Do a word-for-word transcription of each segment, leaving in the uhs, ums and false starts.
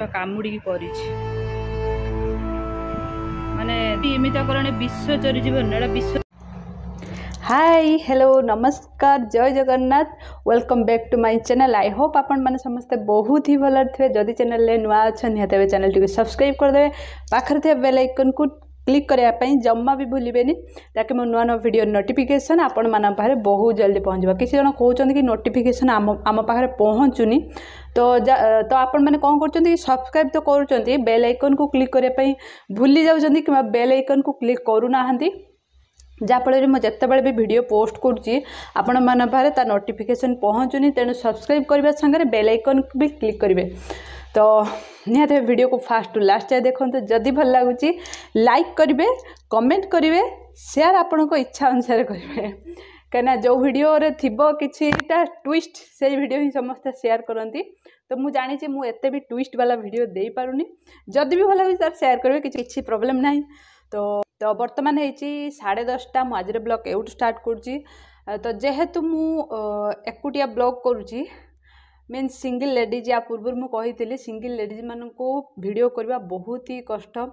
କାମୁଡ଼ିକି କରିଛି ମାନେ ଏମିତି କଲାଣି ବିଷ ଚରିଯିବ ଏଇଟା ବିଷ ହାଇ ହ୍ୟାଲୋ ନମସ୍କାର ଜୟ Jagannath welcome back to my channel I hope ଆପଣମାନେ ସମସ୍ତେ ବହୁତ ହି ଭଲରେ ଥିବେ ଯଦି ଚ୍ୟାନେଲରେ ନୂଆ ଅଛନ୍ତି ନିହାତି ଭାବେ ଚ୍ୟାନେଲଟିକୁ ସବସ୍କ୍ରାଇବ୍ କରିଦେବେ ପାଖରେ ଥିବା ବେଲ୍ ଆଇକନ୍କୁ କ୍ଲିକ୍ କରିବା ପାଇଁ ଜମା ବି ଭୁଲିବେନି ତାକି ମୋ ନୂଆ ନୂଆ ଭିଡ଼ିଓ ନୋଟିଫିକେସନ୍ ଆପଣମାନଙ୍କ ପାଖରେ ବହୁତ ଜଲ୍ଦି ପହଞ୍ଚିବ କିଛି ଜଣ କହୁଛନ୍ତି କି ନୋଟିଫିକେସନ୍ ଆମ ଆମ ପାଖରେ ପହଞ୍ଚୁନି ତ ତ ଆପଣମାନେ କ'ଣ କରୁଛନ୍ତି ସବସ୍କ୍ରାଇବ୍ ତ କରୁଛନ୍ତି ବେଲ୍ ଆଇକନ୍କୁ କ୍ଲିକ୍ କରିବା ପାଇଁ ଭୁଲି ଯାଉଛନ୍ତି କିମ୍ବା ବେଲ୍ ଆଇକନ୍କୁ କ୍ଲିକ୍ କରୁନାହାନ୍ତି ଯାହାଫଳରେ ମୁଁ ଯେତେବେଳେ ବି ଭିଡ଼ିଓ ପୋଷ୍ଟ କରୁଛି ଆପଣମାନଙ୍କ ପାଖରେ ତା ନୋଟିଫିକେସନ୍ ପହଞ୍ଚୁନି ତେଣୁ ସବସ୍କ୍ରାଇବ୍ କରିବା ସାଙ୍ଗରେ ବେଲ୍ ଆଇକନ୍କୁ ବି କ୍ଲିକ୍ କରିବେ ତ ନିହାତି ଭିଡ଼ିଓକୁ ଫାଷ୍ଟ ଟୁ ଲାଷ୍ଟ ଯାଏ ଦେଖନ୍ତୁ ଯଦି ଭଲ ଲାଗୁଛି ଲାଇକ୍ କରିବେ କମେଣ୍ଟ କରିବେ ସେୟାର ଆପଣଙ୍କ ଇଚ୍ଛା ଅନୁସାରେ କରିବେ କାହିଁକିନା ଯେଉଁ ଭିଡ଼ିଓରେ ଥିବ କିଛିଟା ଟୁଇଷ୍ଟ ସେଇ ଭିଡ଼ିଓ ହିଁ ସମସ୍ତେ ସେୟାର କରନ୍ତି ତ ମୁଁ ଜାଣିଛି ମୁଁ ଏତେ ବି ଟୁଇଷ୍ଟ ବାଲା ଭିଡ଼ିଓ ଦେଇପାରୁନି ଯଦି ବି ଭଲ ଲାଗୁଛି ତାର ସେୟାର କରିବେ କିଛି କିଛି ପ୍ରୋବ୍ଲେମ୍ ନାହିଁ ତ ତ ବର୍ତ୍ତମାନ ହେଇଛି ସାଢ଼େ ଦଶଟା ମୁଁ ଆଜିର ବ୍ଲଗ୍ ଏଇଠୁ ଷ୍ଟାର୍ଟ କରୁଛି ତ ଯେହେତୁ ମୁଁ ଏକୁଟିଆ ବ୍ଲଗ୍ କରୁଛି ମିନ୍ସ ସିଙ୍ଗିଲ୍ ଲେଡ଼ିଜ୍ ୟା ପୂର୍ବରୁ ମୁଁ କହିଥିଲି ସିଙ୍ଗିଲ୍ ଲେଡ଼ିଜ୍ମାନଙ୍କୁ ଭିଡ଼ିଓ କରିବା ବହୁତ ହି କଷ୍ଟ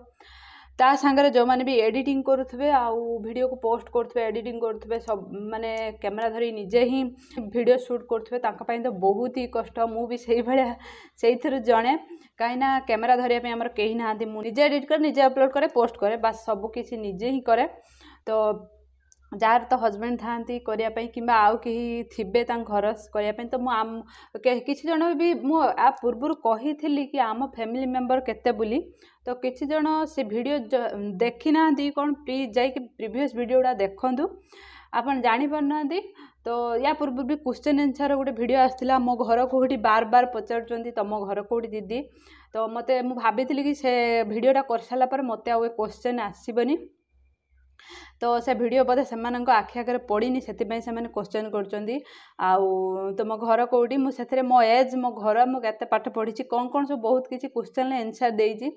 ତା ସାଙ୍ଗରେ ଯେଉଁମାନେ ବି ଏଡ଼ିଟିଂ କରୁଥିବେ ଆଉ ଭିଡ଼ିଓକୁ ପୋଷ୍ଟ କରୁଥିବେ ଏଡ଼ିଟିଂ କରୁଥିବେ ସବୁ ମାନେ କ୍ୟାମେରା ଧରି ନିଜେ ହିଁ ଭିଡ଼ିଓ ସୁଟ୍ କରୁଥିବେ ତାଙ୍କ ପାଇଁ ତ ବହୁତ ହି କଷ୍ଟ ମୁଁ ବି ସେଇଭଳିଆ ସେଇଥିରୁ ଜଣେ କାହିଁକିନା କ୍ୟାମେରା ଧରିବା ପାଇଁ ଆମର କେହି ନାହାନ୍ତି ମୁଁ ନିଜେ ଏଡ଼ିଟ୍ କରେ ନିଜେ ଅପଲୋଡ଼ କରେ ପୋଷ୍ଟ କରେ ବାସ୍ ସବୁ କିଛି ନିଜେ ହିଁ କରେ ତ ଯାହାର ତ ହଜବେଣ୍ଡ ଥାଆନ୍ତି କରିବା ପାଇଁ କିମ୍ବା ଆଉ କେହି ଥିବେ ତାଙ୍କ ଘର କରିବା ପାଇଁ ତ ମୁଁ ଆମ କିଛି ଜଣ ବି ମୁଁ ଆ ପୂର୍ବରୁ କହିଥିଲି କି ଆମ ଫ୍ୟାମିଲି ମେମ୍ବର କେତେ ବୋଲି ତ କିଛି ଜଣ ସେ ଭିଡ଼ିଓ ଦେଖିନାହାନ୍ତି କ'ଣ ପ୍ଲିଜ୍ ଯାଇକି ପ୍ରିଭିୟସ୍ ଭିଡ଼ିଓ ଗୁଡ଼ା ଦେଖନ୍ତୁ ଆପଣ ଜାଣିପାରୁନାହାନ୍ତି ତ ୟା ପୂର୍ବରୁ ବି କ୍ୱେଶ୍ଚନ୍ ଆନ୍ସର୍ ଗୋଟେ ଭିଡ଼ିଓ ଆସିଥିଲା ମୋ ଘର କେଉଁଠି ବାର ବାର ପଚାରୁଛନ୍ତି ତୁମ ଘର କେଉଁଠି ଦିଦି ତ ମୋତେ ମୁଁ ଭାବିଥିଲି କି ସେ ଭିଡ଼ିଓଟା କରିସାରିଲା ପରେ ମୋତେ ଆଉ ଏ କ୍ୱେଶ୍ଚନ୍ ଆସିବନି ତ ସେ ଭିଡ଼ିଓ ବୋଧେ ସେମାନଙ୍କ ଆଖି ଆଗରେ ପଡ଼ିନି ସେଥିପାଇଁ ସେମାନେ କ୍ୱେଶ୍ଚନ୍ କରୁଛନ୍ତି ଆଉ ତୁମ ଘର କେଉଁଠି ମୁଁ ସେଥିରେ ମୋ ଏଜ୍ ମୋ ଘର ମୁଁ କେତେ ପାଠ ପଢ଼ିଛି କ'ଣ କ'ଣ ସବୁ ବହୁତ କିଛି କ୍ୱେଶ୍ଚନ୍ର ଆନ୍ସର୍ ଦେଇଛି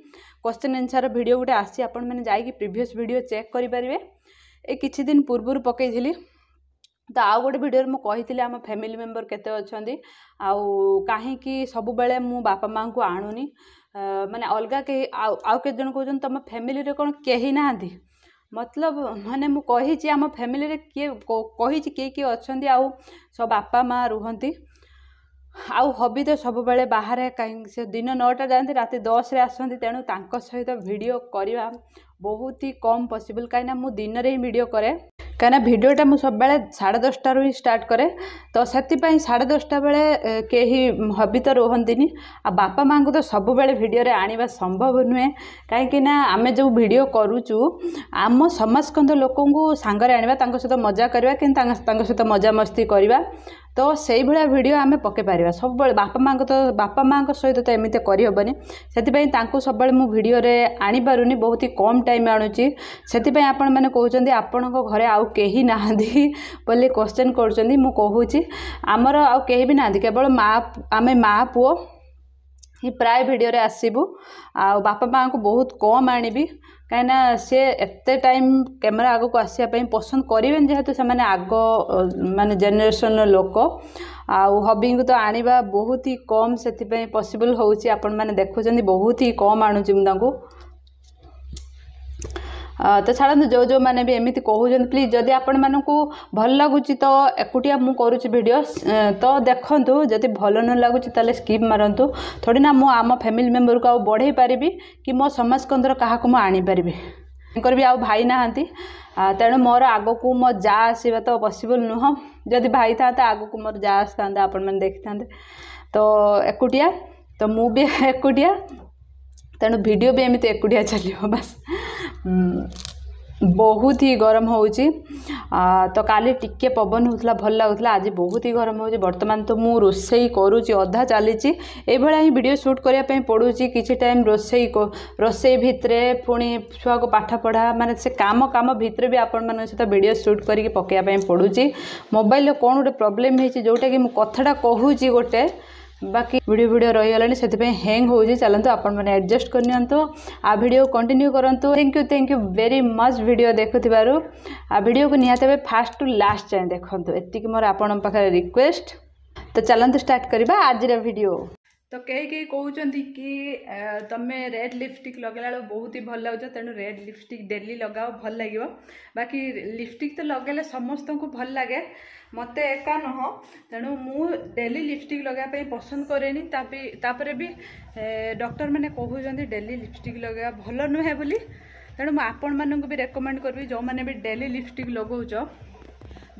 କ୍ୱେଶ୍ଚନ୍ ଆନ୍ସର୍ ଭିଡ଼ିଓ ଗୋଟେ ଆସିଛି ଆପଣମାନେ ଯାଇକି ପ୍ରିଭିୟସ୍ ଭିଡ଼ିଓ ଚେକ୍ କରିପାରିବେ ଏ କିଛି ଦିନ ପୂର୍ବରୁ ପକାଇଥିଲି ତ ଆଉ ଗୋଟେ ଭିଡ଼ିଓରେ ମୁଁ କହିଥିଲି ଆମ ଫ୍ୟାମିଲି ମେମ୍ବର କେତେ ଅଛନ୍ତି ଆଉ କାହିଁକି ସବୁବେଳେ ମୁଁ ବାପା ମାଆଙ୍କୁ ଆଣୁନି ମାନେ ଅଲଗା କେହି ଆଉ ଆଉ କେତେ ଜଣ କହୁଛନ୍ତି ତୁମ ଫ୍ୟାମିଲିରେ କ'ଣ କେହି ନାହାନ୍ତି ମତଲବ ମାନେ ମୁଁ କହିଛି ଆମ ଫ୍ୟାମିଲିରେ କିଏ କହିଛି କିଏ କିଏ ଅଛନ୍ତି ଆଉ ସବୁ ବାପା ମାଆ ରୁହନ୍ତି ଆଉ ହବି ତ ସବୁବେଳେ ବାହାରେ କାହିଁକି ସେ ଦିନ ନଅଟା ଯାଆନ୍ତି ରାତି ଦଶରେ ଆସନ୍ତି ତେଣୁ ତାଙ୍କ ସହିତ ଭିଡ଼ିଓ କରିବା ବହୁତ ହି କମ୍ ପସିବଲ୍ କାହିଁକିନା ମୁଁ ଦିନରେ ହିଁ ଭିଡ଼ିଓ କରେ କାହିଁକିନା ଭିଡ଼ିଓଟା ମୁଁ ସବୁବେଳେ ସାଢ଼େ ଦଶଟାରୁ ହିଁ ଷ୍ଟାର୍ଟ କରେ ତ ସେଥିପାଇଁ ସାଢ଼େ ଦଶଟା ବେଳେ କେହି ହବି ତ ରୁହନ୍ତିନି ଆଉ ବାପା ମାଆଙ୍କୁ ତ ସବୁବେଳେ ଭିଡ଼ିଓରେ ଆଣିବା ସମ୍ଭବ ନୁହେଁ କାହିଁକିନା ଆମେ ଯେଉଁ ଭିଡ଼ିଓ କରୁଛୁ ଆମ ସମାଜକନ୍ଦ ଲୋକଙ୍କୁ ସାଙ୍ଗରେ ଆଣିବା ତାଙ୍କ ସହିତ ମଜା କରିବା କିନ୍ତୁ ତାଙ୍କ ତାଙ୍କ ସହିତ ମଜାମସ୍ତି କରିବା ତ ସେଇଭଳିଆ ଭିଡ଼ିଓ ଆମେ ପକାଇ ପାରିବା ସବୁବେଳେ ବାପା ମାଆଙ୍କ ତ ବାପା ମାଆଙ୍କ ସହିତ ତ ଏମିତି କରିହେବନି ସେଥିପାଇଁ ତାଙ୍କୁ ସବୁବେଳେ ମୁଁ ଭିଡ଼ିଓରେ ଆଣିପାରୁନି ବହୁତ ହି କମ୍ ଟାଇମ୍ ଆଣୁଛି ସେଥିପାଇଁ ଆପଣମାନେ କହୁଛନ୍ତି ଆପଣଙ୍କ ଘରେ ଆଉ କେହି ନାହାନ୍ତି ବୋଲି କ୍ୱେଶ୍ଚନ୍ କରୁଛନ୍ତି ମୁଁ କହୁଛି ଆମର ଆଉ କେହି ବି ନାହାନ୍ତି କେବଳ ମା ଆମେ ମା ପୁଅ ହିଁ ପ୍ରାୟ ଭିଡ଼ିଓରେ ଆସିବୁ ଆଉ ବାପା ମାଆଙ୍କୁ ବହୁତ କମ୍ ଆଣିବି କାହିଁକିନା ସେ ଏତେ ଟାଇମ୍ କ୍ୟାମେରା ଆଗକୁ ଆସିବା ପାଇଁ ପସନ୍ଦ କରିବେନି ଯେହେତୁ ସେମାନେ ଆଗ ମାନେ ଜେନେରେସନ୍ର ଲୋକ ଆଉ ହବିଙ୍କୁ ତ ଆଣିବା ବହୁତ ହି କମ୍ ସେଥିପାଇଁ ପସିବଲ୍ ହେଉଛି ଆପଣମାନେ ଦେଖୁଛନ୍ତି ବହୁତ ହି କମ୍ ଆଣୁଛି ମୁଁ ତାଙ୍କୁ ତ ଛାଡ଼ନ୍ତୁ ଯେଉଁ ଯେଉଁମାନେ ବି ଏମିତି କହୁଛନ୍ତି ପ୍ଲିଜ୍ ଯଦି ଆପଣମାନଙ୍କୁ ଭଲ ଲାଗୁଛି ତ ଏକୁଟିଆ ମୁଁ କରୁଛି ଭିଡ଼ିଓ ତ ଦେଖନ୍ତୁ ଯଦି ଭଲ ନ ଲାଗୁଛି ତାହେଲେ ସ୍କିପ୍ ମାରନ୍ତୁ ଥୋଡ଼ି ନା ମୁଁ ଆମ ଫ୍ୟାମିଲି ମେମ୍ବରକୁ ଆଉ ବଢ଼େଇ ପାରିବି କି ମୋ ସମାଜକନ୍ଦର କାହାକୁ ମୁଁ ଆଣିପାରିବି ତାଙ୍କର ବି ଆଉ ଭାଇ ନାହାନ୍ତି ତେଣୁ ମୋର ଆଗକୁ ମୋ ଯା ଆସିବା ତ ପସିବଲ୍ ନୁହଁ ଯଦି ଭାଇ ଥାନ୍ତା ଆଗକୁ ମୋର ଯା ଆସିଥାନ୍ତା ଆପଣମାନେ ଦେଖିଥାନ୍ତେ ତ ଏକୁଟିଆ ତ ମୁଁ ବି ଏକୁଟିଆ ତେଣୁ ଭିଡ଼ିଓ ବି ଏମିତି ଏକୁଟିଆ ଚାଲିବ ବାସ୍ ବହୁତ ହି ଗରମ ହେଉଛି ତ କାଲି ଟିକେ ପବନ ହେଉଥିଲା ଭଲ ଲାଗୁଥିଲା ଆଜି ବହୁତ ହି ଗରମ ହେଉଛି ବର୍ତ୍ତମାନ ତ ମୁଁ ରୋଷେଇ କରୁଛି ଅଧା ଚାଲିଛି ଏଇଭଳିଆ ହିଁ ଭିଡ଼ିଓ ସୁଟ୍ କରିବା ପାଇଁ ପଡ଼ୁଛି କିଛି ଟାଇମ୍ ରୋଷେଇ ରୋଷେଇ ଭିତରେ ପୁଣି ଛୁଆକୁ ପାଠ ପଢ଼ା ମାନେ ସେ କାମ କାମ ଭିତରେ ବି ଆପଣମାନଙ୍କ ସହିତ ଭିଡ଼ିଓ ସୁଟ୍ କରିକି ପକାଇବା ପାଇଁ ପଡ଼ୁଛି ମୋବାଇଲରେ କ'ଣ ଗୋଟେ ପ୍ରୋବ୍ଲେମ୍ ହେଇଛି ଯେଉଁଟାକି ମୁଁ କଥାଟା କହୁଛି ଗୋଟେ ବାକି ଭିଡ଼ିଓ ଭିଡ଼ିଓ ରହିଗଲାଣି ସେଥିପାଇଁ ହ୍ୟାଙ୍ଗ ହେଉଛି ଚାଲନ୍ତୁ ଆପଣମାନେ ଆଡ଼ଜଷ୍ଟ କରିନିଅନ୍ତୁ ଆଉ ଭିଡ଼ିଓ କଣ୍ଟିନ୍ୟୁ କରନ୍ତୁ thank you thank you very much video ଦେଖୁଥିବାରୁ ଆଉ ଭିଡ଼ିଓକୁ ନିହାତି ଭାବେ ଫାଷ୍ଟ ଟୁ ଲାଷ୍ଟ ଯାଏଁ ଦେଖନ୍ତୁ ଏତିକି ମୋର ଆପଣଙ୍କ ପାଖରେ ରିକ୍ୱେଷ୍ଟ ତ ଚାଲନ୍ତୁ ଷ୍ଟାର୍ଟ କରିବା ଆଜିର ଭିଡ଼ିଓ ତ କେହି କେହି କହୁଛନ୍ତି କି ତମେ ରେଡ୍ ଲିପଷ୍ଟିକ୍ ଲଗାଇଲା ବେଳକୁ ବହୁତ ହି ଭଲ ଲାଗୁଛ, ତେଣୁ ରେଡ୍ ଲିପଷ୍ଟିକ୍ ଡେଲି ଲଗାଅ, ଭଲ ଲାଗିବ। ବାକି ଲିପଷ୍ଟିକ୍ ତ ଲଗାଇଲେ ସମସ୍ତଙ୍କୁ ଭଲ ଲାଗେ, ମୋତେ ଏକା ନୁହଁ। ତେଣୁ ମୁଁ ଡେଲି ଲିପଷ୍ଟିକ୍ ଲଗାଇବା ପାଇଁ ପସନ୍ଦ କରେନି। ତାପରେ ବି ଡକ୍ଟରମାନେ କହୁଛନ୍ତି ଡେଲି ଲିପଷ୍ଟିକ୍ ଲଗାଇବା ଭଲ ନୁହେଁ ବୋଲି। ତେଣୁ ମୁଁ ଆପଣମାନଙ୍କୁ ବି ରେକମେଣ୍ଡ କରିବି, ଯେଉଁମାନେ ବି ଡେଲି ଲିପଷ୍ଟିକ୍ ଲଗାଉଛ,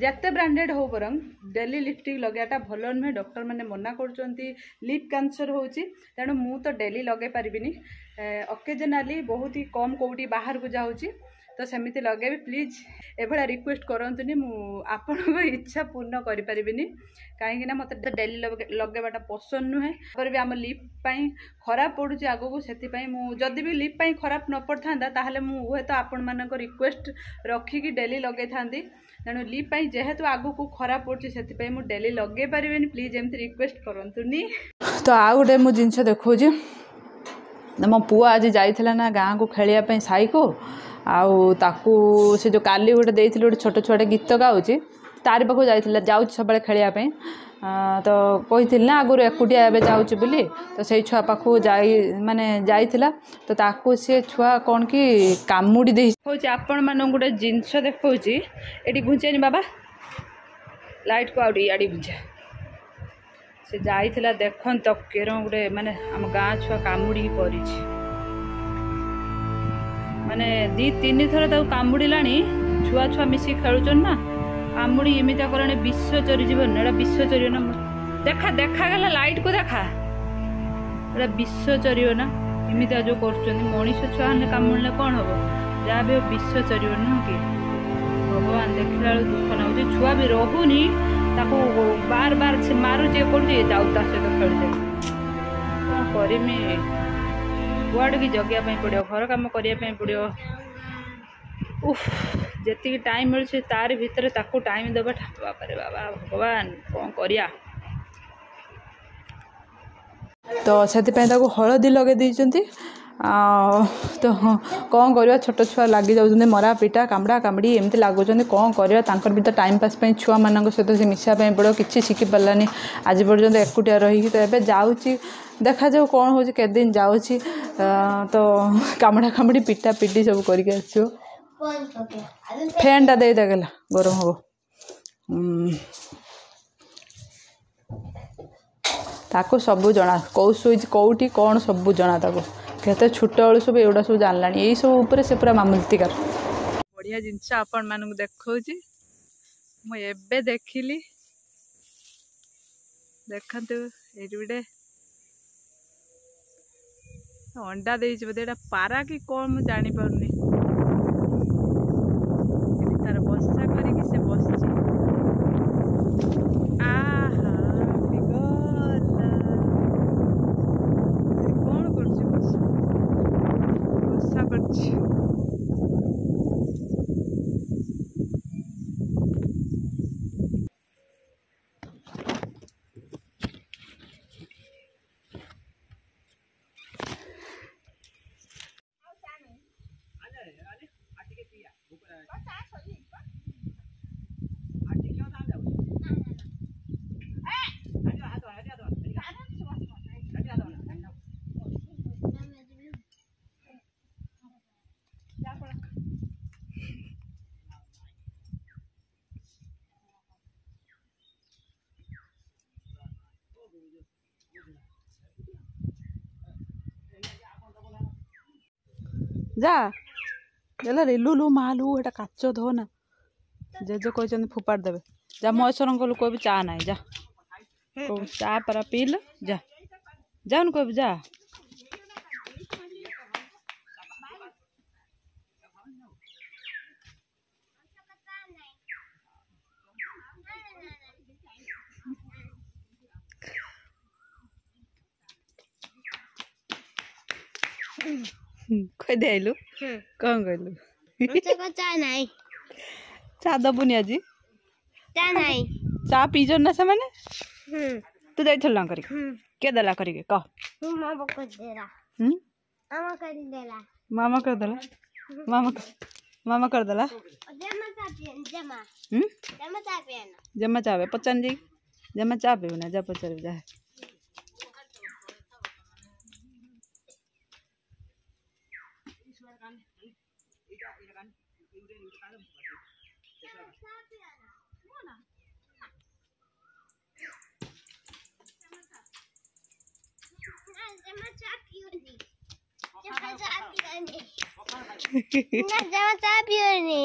ଯେତେ ବ୍ରାଣ୍ଡେଡ଼ ହଉ ବରଂ ଡେଲି ଲିପଷ୍ଟିକ୍ ଲଗାଇବାଟା ଭଲ ନୁହେଁ। ଡକ୍ଟରମାନେ ମନା କରୁଛନ୍ତି, ଲିପ୍ କ୍ୟାନ୍ସର ହେଉଛି। ତେଣୁ ମୁଁ ତ ଡେଲି ଲଗାଇ ପାରିବିନି, ଅକେଜନାଲି ବହୁତ ହି କମ୍ କେଉଁଠି ବାହାରକୁ ଯାଉଛି ତ ସେମିତି ଲଗାଇବି। ପ୍ଲିଜ୍ ଏଭଳିଆ ରିକ୍ୱେଷ୍ଟ କରନ୍ତୁନି, ମୁଁ ଆପଣଙ୍କ ଇଚ୍ଛା ପୂର୍ଣ୍ଣ କରିପାରିବିନି, କାହିଁକିନା ମୋତେ ଡେଲି ଲଗାଇବାଟା ପସନ୍ଦ ନୁହେଁ। ତାପରେ ବି ଆମ ଲିପ୍ ପାଇଁ ଖରାପ ପଡ଼ୁଛି ଆଗକୁ, ସେଥିପାଇଁ ମୁଁ ଯଦି ବି ଲିପ୍ ପାଇଁ ଖରାପ ନ ପଡ଼ିଥାନ୍ତା ତାହେଲେ ମୁଁ ହୁଏତ ଆପଣମାନଙ୍କ ରିକ୍ୱେଷ୍ଟ ରଖିକି ଡେଲି ଲଗାଇଥାନ୍ତି। ତେଣୁ ଲିପ୍ ପାଇଁ ଯେହେତୁ ଆଗକୁ ଖରାପ ପଡ଼ୁଛି ସେଥିପାଇଁ ମୁଁ ଡେଲି ଲଗାଇ ପାରିବିନି। ପ୍ଲିଜ୍ ଏମିତି ରିକ୍ୱେଷ୍ଟ କରନ୍ତୁନି। ତ ଆଉ ଗୋଟେ ମୁଁ ଜିନିଷ ଦେଖାଉଛି, ମୋ ପୁଅ ଆଜି ଯାଇଥିଲା ନା ଗାଁକୁ ଖେଳିବା ପାଇଁ ସାଇକୁ, ଆଉ ତାକୁ ସେ ଯେଉଁ କାଲି ଗୋଟେ ଦେଇଥିଲି ଗୋଟେ ଛୋଟ ଛୁଆଟେ ଗୀତ ଗାଉଛି, ତାରି ପାଖକୁ ଯାଇଥିଲା, ଯାଉଛି ସବୁବେଳେ ଖେଳିବା ପାଇଁ। ତ କହିଥିଲି ନା ଆଗରୁ ଏକୁଟିଆ ଏବେ ଯାଉଛି ବୋଲି, ତ ସେଇ ଛୁଆ ପାଖକୁ ଯାଇ ମାନେ ଯାଇଥିଲା, ତ ତାକୁ ସେ ଛୁଆ କ'ଣ କି କାମୁଡ଼ି ଦେଇ। ହେଉଛି ଆପଣମାନଙ୍କୁ ଗୋଟେ ଜିନିଷ ଦେଖାଉଛି, ଏଠି ଘୁଞ୍ଚେନି ବାବା ଲାଇଟ୍କୁ, ଆଉ ଟିକେ ଇଆଡ଼େ ଘୁଞ୍ଚା। ସେ ଯାଇଥିଲା, ଦେଖନ୍ତ କେରଁ ଗୋଟେ ମାନେ ଆମ ଗାଁ ଛୁଆ କାମୁଡ଼ିକି କରିଛି, ମାନେ ଦୁଇ ତିନି ଥର ତାକୁ କାମୁଡ଼ିଲାଣି। ଛୁଆ ଛୁଆ ମିଶିକି ଖେଳୁଛନ୍ତି ନା, କାମୁଡ଼ି ଏମିତିଆ କଲାଣି ବିଷ ଚରିଯିବ ନା, ଏଇଟା ବିଷ ଚରିବ ନା। ଦେଖା ଦେଖାଗଲା ଲାଇଟ୍କୁ ଦେଖା, ଏଇଟା ବିଷ ଚରିବ ନା। ଏମିତିଆ ଯେଉଁ କରୁଛନ୍ତି, ମଣିଷ ଛୁଆ ହେଲେ କାମୁଡ଼ିଲେ କ'ଣ ହବ, ଯାହା ବି ହଉ ବିଷ ଚରିବ ନୁହଁ କି? ଭଗବାନ, ଦେଖିଲା ବେଳକୁ ଦୁଃଖ ଲାଗୁଛି। ଛୁଆ ବି ରହୁନି, ତାକୁ ବାର ବାର ସେ ମାରୁଛି, ଇଏ କରୁଛି, ଯାଉ ତା ସହିତ ଖେଳୁଛି। କ'ଣ କରିମି, କୁଆଡ଼େ ଜଗିବା ପାଇଁ ପଡ଼ିବ, ଘର କାମ କରିବା ପାଇଁ ପଡ଼ିବ। ଉଫ୍, ଯେତିକି ଟାଇମ୍ ମିଳୁଛି ତାରି ଭିତରେ ତାକୁ ଟାଇମ୍ ଦେବାଟା, ବାବାରେ ବାବା, ଭଗବାନ କ'ଣ କରିବା। ତ ସେଥିପାଇଁ ତାକୁ ହଳଦୀ ଲଗାଇ ଦେଇଛନ୍ତି। ତ କ'ଣ କରିବା, ଛୋଟ ଛୁଆ ଲାଗି ଯାଉଛନ୍ତି, ମରା ପିଟା କାମୁଡ଼ା କାମୁଡ଼ି ଏମିତି ଲାଗୁଛନ୍ତି, କ'ଣ କରିବା। ତାଙ୍କର ବି ତ ଟାଇମ୍ ପାସ୍ ପାଇଁ ଛୁଆମାନଙ୍କ ସହିତ ସେ ମିଶିବା ପାଇଁ ପଡ଼ିବ। କିଛି ଶିଖିପାରିଲାନି ଆଜି ପର୍ଯ୍ୟନ୍ତ ଏକୁଟିଆ ରହିକି। ତ ଏବେ ଯାଉଛି, ଦେଖାଯାଉ କ'ଣ ହେଉଛି, କେତେ ଦିନ ଯାଉଛି। ତ କାମୁଡ଼ା କାମୁଡ଼ି ପିଟା ପିଟି ସବୁ କରିକି ଆସିବ। ଫ୍ୟାନ୍ଟା ଦେଇଦେଗଲା, ଗରମ ହେବ। ତାକୁ ସବୁ ଜଣା, କେଉଁ ସୁଇଚ୍ କେଉଁଠି କ'ଣ ସବୁ ଜଣା ତାକୁ। କେତେ ଛୋଟବେଳୁ ସବୁ ଏଗୁଡ଼ା ସବୁ ଜାଣିଲାଣି, ଏଇସବୁ ଉପରେ ସେ ପୁରା ମାମଲତିକାର। ବଢ଼ିଆ ଜିନିଷ ଆପଣମାନଙ୍କୁ ଦେଖାଉଛି, ମୁଁ ଏବେ ଦେଖିଲି। ଦେଖନ୍ତୁ ଏଇଠି ଗୋଟେ ଅଣ୍ଡା ଦେଇଛି, ବୋଧେ ଏଇଟା ପାରା କି କ'ଣ ମୁଁ ଜାଣିପାରୁନି। ଏଠି ତାର ବସା କରିକି ସେ ବସିଛି। ଆହା, ଗଲା କ'ଣ କରୁଛି, ବସା ବସା କରୁଛି। ଯା ଦେଲା ରେ, ଲୁ ଲୁ ମାଲୁ, ଏଟା କାଚ ଧୋ ନା, ଜେଜେ କହିଛନ୍ତି ଫୋପାଡ଼ି ଦେବେ। ଯା ମହେଶ୍ୱରଙ୍କ ଲୋକ ବି ଚା ନାହିଁ, ଯା ଚା ପରା ପିଇଲ, ଯା ଯାଉନୁ କହିବୁ ଯା। କହିଦେ ଆଇଲୁ, କ'ଣ କହିଲୁ? ଚା ଦବୁନି ଆଜି? ଚା ପିଇଛନ୍ତି ନା ସେମାନେ? ତୁ ଯାଇଥିଲୁ ନା କରିକି? କିଏ ଦେଲା କରିକି କହ? ମାମା କରିଦେଲା, ମାମା ମାମା କରିଦେଲା। ଜମା ଚା ପଚାରି ଯାଇକି, ଜମା ଚା ପିଇବୁ ନା? ଯା ପଚାରିବୁ ଯା। ନା, ଜମା ଚା ପିଉନି।